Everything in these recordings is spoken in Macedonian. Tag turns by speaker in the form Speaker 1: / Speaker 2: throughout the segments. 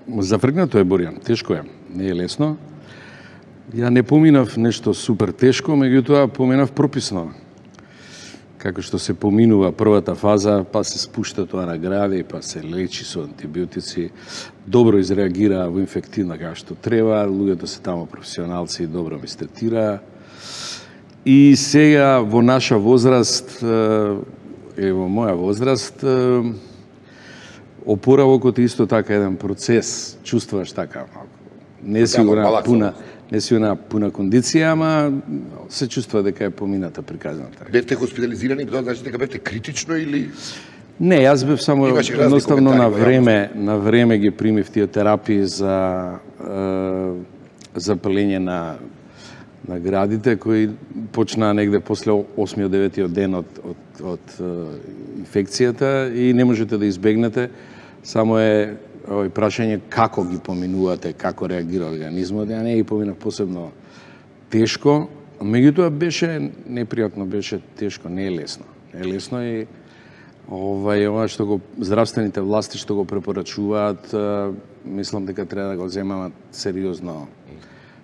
Speaker 1: Зафргнато е, Боријан, тешко е, не е лесно. Ја не поминав нешто супер тешко, меѓутоа поминав прописно. Како што се поминува првата фаза, па се спушта тоа на гради, па се лечи со антибиотици, добро изреагира во инфективна како што треба, луѓето се тамо професионалци и добро ми стретира. И сега во наша возраст, во моја возраст, опоравокот е исто така еден процес, чувствуваш така, не си пуна кондиција, ама се чувствува дека е помината приказната.
Speaker 2: Бевте хоспитализирани, тоа значи дека бевте критично или?
Speaker 1: Не, јас бев само едноставно на време ги примив тие терапии за запалење на градите, кои почнаа негде после 8-9 ден од инфекцијата и не можете да избегнете, само е прашање како ги поминувате, како реагира организмот. Ја не ги поминав посебно тешко, меѓутоа беше непријатно, беше тешко, не е лесно. Не е лесно и ова што го здравствените власти што го препорачуваат, мислам дека треба да го земаат сериозно.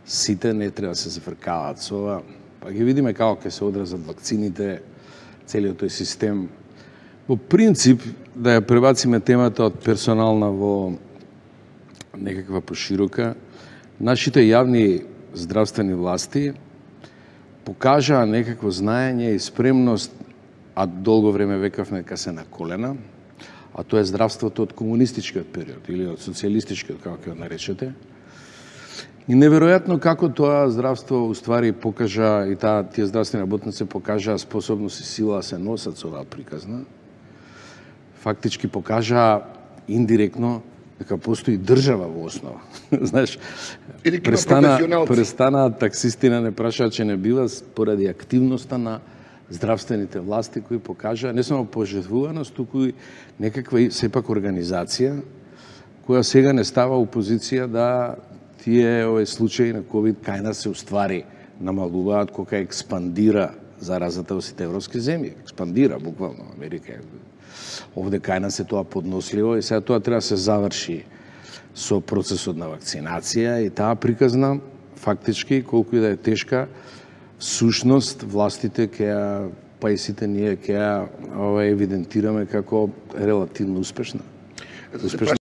Speaker 1: Сите не треба да се зафркаваат со ова. Па ги видиме како ќе се одразат вакцините, целиот тој систем. Во принцип, да ја пребациме темата од персонална во некаква поширока, нашите јавни здравствени власти покажаа некакво знаење и спремност, а долго време векавме дека се на колена, а тоа е здравството од комунистичкиот период или од социјалистичкиот, како ќе го наречете. И неверојатно како тоа здравство уствари покажа и тие здравствени работници покажаа способност и сила да се носат со оваа приказна. Фактички покажа индиректно дека постои држава во основа. Знаеш, престана таксисти не прашаат, че не бива поради активноста на здравствените власти кои покажа не само пожртвуваност, туку и некаква сепак организација која сега не става у позиција да тие случаи на ковид кај нас се уствари намалуваат кога експандира заразата во сите европски земји. Експандира буквално Америка. Овде кај нас е тоа подносливо и сега тоа треба да се заврши со процесот на вакцинација и таа приказна фактички колку и да е тешка, сушност властите ќе па и сите ние ќе евидентираме како релативно успешна.